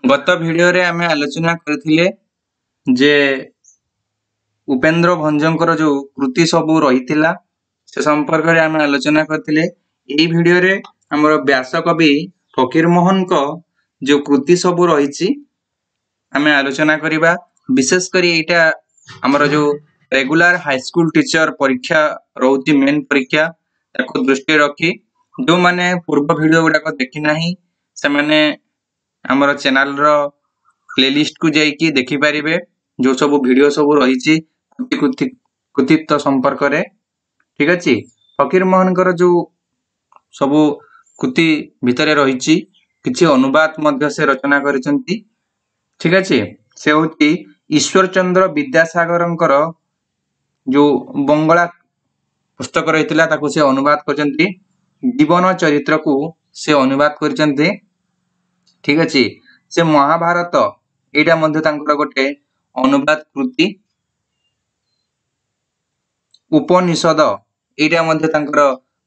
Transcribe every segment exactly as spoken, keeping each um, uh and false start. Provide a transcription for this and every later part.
ଗତ ଭିଡିଓରେ ଆମେ ଆଲୋଚନା କରିଥିଲେ ଯେ ଉପେନ୍ଦ୍ର ଭଞ୍ଜଙ୍କର ଯୋଉ କୃତି ସବୁ ରହିଥିଲା ସେ ସମ୍ପର୍କରେ ଆମେ ଆଲୋଚନା କରିଥିଲେ। ଏଇ ଭିଡିଓରେ ଆମର ବ୍ୟାସକବି ଫକୀର ମୋହନଙ୍କ ଯୋଉ କୃତି ସବୁ ରହିଛି ଆମେ ଆଲୋଚନା କରିବା। ବିଶେଷ କରି ଏଇଟା ଆମର ଯୋଉ ରେଗୁଲାର ହାଇସ୍କୁଲ ଟିଚର ପରୀକ୍ଷା ରହୁଛି, ମେନ୍ ପରୀକ୍ଷା, ତାକୁ ଦୃଷ୍ଟିରେ ରଖି ଯୋଉମାନେ ପୂର୍ବ ଭିଡିଓ ଗୁଡାକ ଦେଖି ନାହିଁ ସେମାନେ ଆମର ଚ୍ୟାନେଲର ପ୍ଲେଲିଷ୍ଟ କୁ ଯାଇକି ଦେଖିପାରିବେ ଯୋଉ ସବୁ ଭିଡିଓ ସବୁ ରହିଛି କୃତି କୃତି କୃତିତ୍ୱ ସମ୍ପର୍କରେ। ଠିକ ଅଛି, ଫକୀର ମୋହନଙ୍କର ଯୋଉ ସବୁ କୃତି ଭିତରେ ରହିଛି କିଛି ଅନୁବାଦ ମଧ୍ୟ ସେ ରଚନା କରିଛନ୍ତି। ଠିକ ଅଛି, ସେ ହଉଛି ଈଶ୍ୱର ଚନ୍ଦ୍ର ବିଦ୍ୟାସାଗରଙ୍କର ଯୋଉ ବଙ୍ଗଳା ପୁସ୍ତକ ରହିଥିଲା ତାକୁ ସେ ଅନୁବାଦ କରିଛନ୍ତି। ଜୀବନ ଚରିତ୍ରକୁ ସେ ଅନୁବାଦ କରିଛନ୍ତି। ଠିକ ଅଛି, ସେ ମହାଭାରତ ଏଇଟା ମଧ୍ୟ ତାଙ୍କର ଗୋଟେ ଅନୁବାଦ କୃତି। ଉପନିଷଦ ଏଇଟା ମଧ୍ୟ ତାଙ୍କର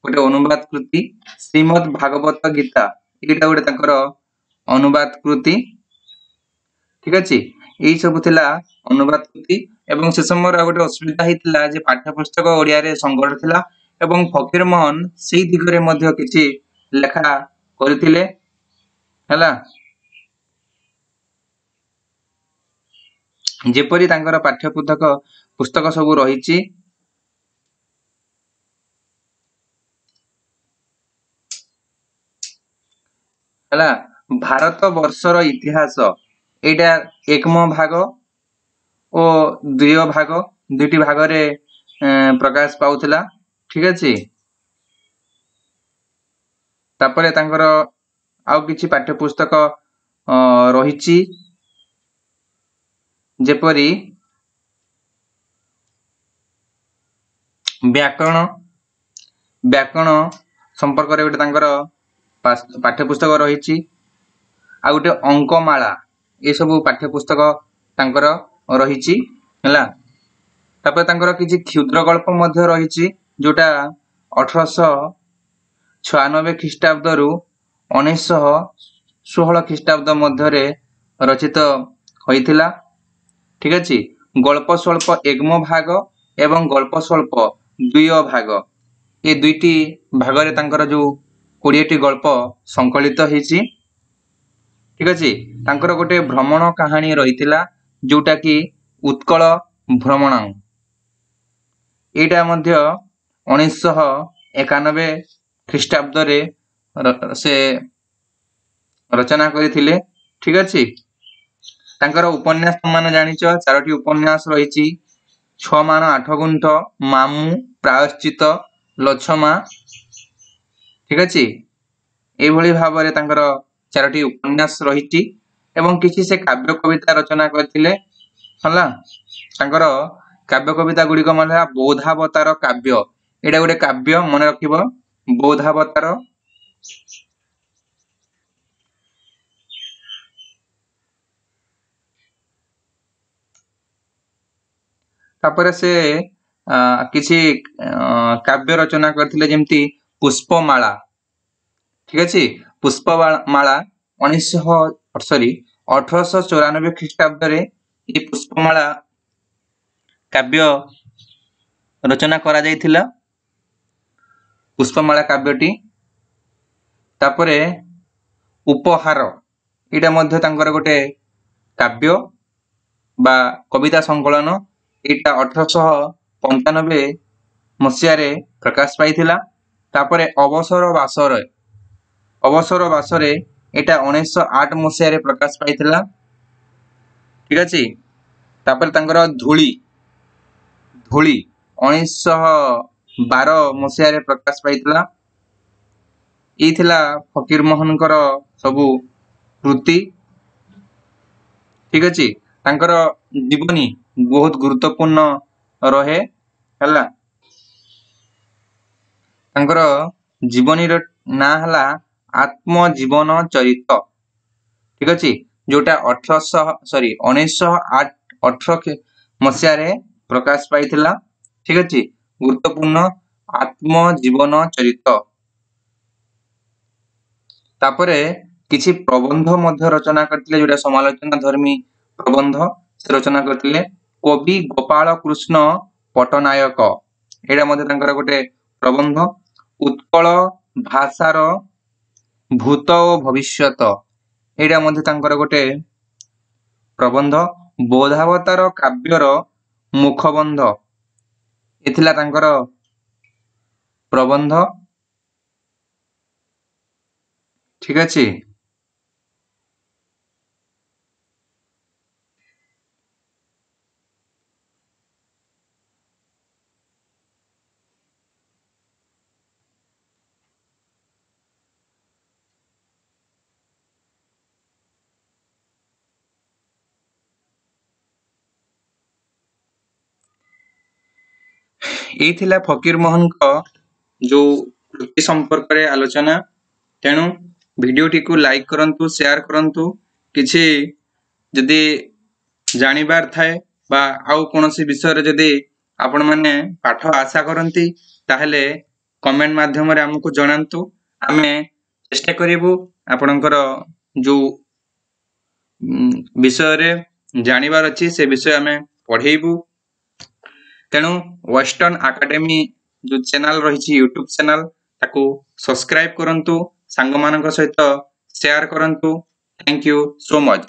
ଗୋଟେ ଅନୁବାଦ କୃତି। ଶ୍ରୀମଦ୍ ଭାଗବତ ଗୀତା ଏଇଟା ଗୋଟେ ତାଙ୍କର ଅନୁବାଦ କୃତି। ଠିକ ଅଛି, ଏଇ ସବୁ ଥିଲା ଅନୁବାଦ କୃତି। ଏବଂ ସେ ସମୟରେ ଆଉ ଗୋଟେ ଅସୁବିଧା ହେଇଥିଲା ଯେ ପାଠ୍ୟପୁସ୍ତକ ଓଡ଼ିଆରେ ସଙ୍କଟ ଥିଲା ଏବଂ ଫକୀର ମୋହନ ସେଇ ଦିଗରେ ମଧ୍ୟ କିଛି ଲେଖା କରିଥିଲେ। ହେଲା, ଯେପରି ତାଙ୍କର ପାଠ୍ୟପୁସ୍ତକ ପୁସ୍ତକ ସବୁ ରହିଛି। ହେଲା, ଭାରତ ବର୍ଷର ଇତିହାସ ଏଇଟା ଏକମ ଭାଗ ଓ ଦ୍ୱିତୀୟ ଭାଗ ଦୁଇଟି ଭାଗରେ ପ୍ରକାଶ ପାଉଥିଲା। ଠିକ ଅଛି, ତାପରେ ତାଙ୍କର ଆଉ କିଛି ପାଠ୍ୟପୁସ୍ତକ ରହିଛି, ଯେପରି ବ୍ୟାକରଣ। ବ୍ୟାକରଣ ସମ୍ପର୍କରେ ଗୋଟେ ତାଙ୍କର ପାଠ୍ୟପୁସ୍ତକ ରହିଛି। ଆଉ ଗୋଟେ ଅଙ୍କମାଳା, ଏସବୁ ପାଠ୍ୟପୁସ୍ତକ ତାଙ୍କର ରହିଛି। ହେଲା, ତାପରେ ତାଙ୍କର କିଛି କ୍ଷୁଦ୍ର ଗଳ୍ପ ମଧ୍ୟ ରହିଛି ଯୋଉଟା ଅଠରଶହ ଛୟାନବେ ଖ୍ରୀଷ୍ଟାବ୍ଦରୁ ଉଣେଇଶହ ଷୋହଳ ଖ୍ରୀଷ୍ଟାବ୍ଦ ମଧ୍ୟରେ ରଚିତ ହୋଇଥିଲା। ଠିକ ଅଛି, ଗଳ୍ପ ସ୍ୱଳ୍ପ ଏକମ ଭାଗ ଏବଂ ଗଳ୍ପ ସ୍ୱଳ୍ପ ଦ୍ୱିୟ ଭାଗ, ଏ ଦୁଇଟି ଭାଗରେ ତାଙ୍କର ଯୋଉ କୋଡ଼ିଏଟି ଗଳ୍ପ ସଂକଳିତ ହେଇଛି। ଠିକ ଅଛି, ତାଙ୍କର ଗୋଟେ ଭ୍ରମଣ କାହାଣୀ ରହିଥିଲା ଯୋଉଟା କି ଉତ୍କଳ ଭ୍ରମଣ, ଏଇଟା ମଧ୍ୟ ଉଣେଇଶହ ଏକାନବେ ଖ୍ରୀଷ୍ଟାବ୍ଦରେ ସେ ରଚନା କରିଥିଲେ। ଠିକ ଅଛି, ତାଙ୍କର ଉପନ୍ୟାସ ମାନେ ଜାଣିଛ ଚାରୋଟି ଉପନ୍ୟାସ ରହିଛି, ଛଅ ମାଣ ଆଠ ଗୁଣ୍ଠ, ମାମୁଁ, ପ୍ରାୟଶ୍ଚିତ, ଲଛମା। ଠିକ ଅଛି, ଏଇଭଳି ଭାବରେ ତାଙ୍କର ଚାରୋଟି ଉପନ୍ୟାସ ରହିଛି ଏବଂ କିଛି ସେ କାବ୍ୟ କବିତା ରଚନା କରିଥିଲେ। ହେଲା, ତାଙ୍କର କାବ୍ୟ କବିତା ଗୁଡିକ ମାନେ ହେଲା ବୌଦ୍ଧାବତାର କାବ୍ୟ, ଏଇଟା ଗୋଟେ କାବ୍ୟ ମନେ ରଖିବ, ବୌଦ୍ଧାବତାର। ତାପରେ ସେ କିଛି କାବ୍ୟ ରଚନା କରିଥିଲେ ଯେମିତି ପୁଷ୍ପମାଳା। ଠିକ ଅଛି, ପୁଷ୍ପମାଳା ଉଣେଇଶହ ସରି ଅଠରଶହ ଚଉରାନବେ ଖ୍ରୀଷ୍ଟାବ୍ଦରେ ଏଇ ପୁଷ୍ପମାଳା କାବ୍ୟ ରଚନା କରାଯାଇଥିଲା, ପୁଷ୍ପମାଳା କାବ୍ୟଟି। ତାପରେ ଉପହାର, ଏଇଟା ମଧ୍ୟ ତାଙ୍କର ଗୋଟେ କାବ୍ୟ ବା କବିତା ସଂକଳନ, ଏଇଟା ଅଠରଶହ ପଞ୍ଚାନବେ ମସିହାରେ ପ୍ରକାଶ ପାଇଥିଲା। ତାପରେ ଅବସର ବାସରେ, ଅବସର ବାସରେ ଏଇଟା ଉଣେଇଶହ ଆଠ ମସିହାରେ ପ୍ରକାଶ ପାଇଥିଲା। ଠିକ ଅଛି, ତାପରେ ତାଙ୍କର ଧୂଳି, ଧୂଳି ଉଣେଇଶହ ବାର ମସିହାରେ ପ୍ରକାଶ ପାଇଥିଲା। ଏଇ ଥିଲା ଫକୀର ମୋହନଙ୍କର ସବୁ କୃତି। ଠିକ ଅଛି, ତାଙ୍କର ଜୀବନୀ ବହୁତ ଗୁରୁତ୍ୱପୂର୍ଣ୍ଣ ରହେ। ହେଲା, ତାଙ୍କର ଜୀବନୀର ନାଁ ହେଲା ଆତ୍ମଜୀବନ ଚରିତ। ଠିକ ଅଛି, ଯୋଉଟା ଅଠରଶହ ସରି ଉଣେଇଶହ ଆଠ ଅଠର ମସିହାରେ ପ୍ରକାଶ ପାଇଥିଲା। ଠିକ ଅଛି, ଗୁରୁତ୍ୱପୂର୍ଣ୍ଣ ଆତ୍ମଜୀବନ ଚରିତ। ତାପରେ କିଛି ପ୍ରବନ୍ଧ ମଧ୍ୟ ରଚନା କରିଥିଲେ, ଯୋଉଟା ସମାଲୋଚନା ଧର୍ମୀ ପ୍ରବନ୍ଧ ସେ ରଚନା କରିଥିଲେ। କବି ଗୋପାଳ କୃଷ୍ଣ ପଟ୍ଟନାୟକ, ଏଇଟା ମଧ୍ୟ ତାଙ୍କର ଗୋଟେ ପ୍ରବନ୍ଧ। ଉତ୍କଳ ଭାଷାର ଭୂତ ଓ ଭବିଷ୍ୟତ, ଏଇଟା ମଧ୍ୟ ତାଙ୍କର ଗୋଟେ ପ୍ରବନ୍ଧ। ବୋଧାବତାର କାବ୍ୟର ମୁଖବନ୍ଧ, ଏ ଥିଲା ତାଙ୍କର ପ୍ରବନ୍ଧ। ଠିକ ଅଛି। ଏଇ ଥିଲା ଫକୀର ମୋହନଙ୍କ ଯୋଉ କୃତି ସମ୍ପର୍କରେ ଆଲୋଚନା। ତେଣୁ ଭିଡିଓଟିକୁ ଲାଇକ୍ କରନ୍ତୁ, ସେୟାର କରନ୍ତୁ। କିଛି ଯଦି ଜାଣିବାର ଥାଏ ବା ଆଉ କୌଣସି ବିଷୟରେ ଯଦି ଆପଣମାନେ ପାଠ ଆଶା କରନ୍ତି, ତାହେଲେ କମେଣ୍ଟ ମାଧ୍ୟମରେ ଆମକୁ ଜଣାନ୍ତୁ। ଆମେ ଚେଷ୍ଟା କରିବୁ ଆପଣଙ୍କର ଯୋଉ ବିଷୟରେ ଜାଣିବାର ଅଛି ସେ ବିଷୟ ଆମେ ପଢେଇବୁ। ତେଣୁ ୱେଷ୍ଟର୍ଣ୍ଣ ଏକାଡେମୀ ଯୋଉ ଚ୍ୟାନେଲ ରହିଛି, ୟୁଟ୍ୟୁବ ଚ୍ୟାନେଲ, ତାକୁ ସବସ୍କ୍ରାଇବ କରନ୍ତୁ, ସାଙ୍ଗମାନଙ୍କ ସହିତ ସେୟାର କରନ୍ତୁ। Thank you so much.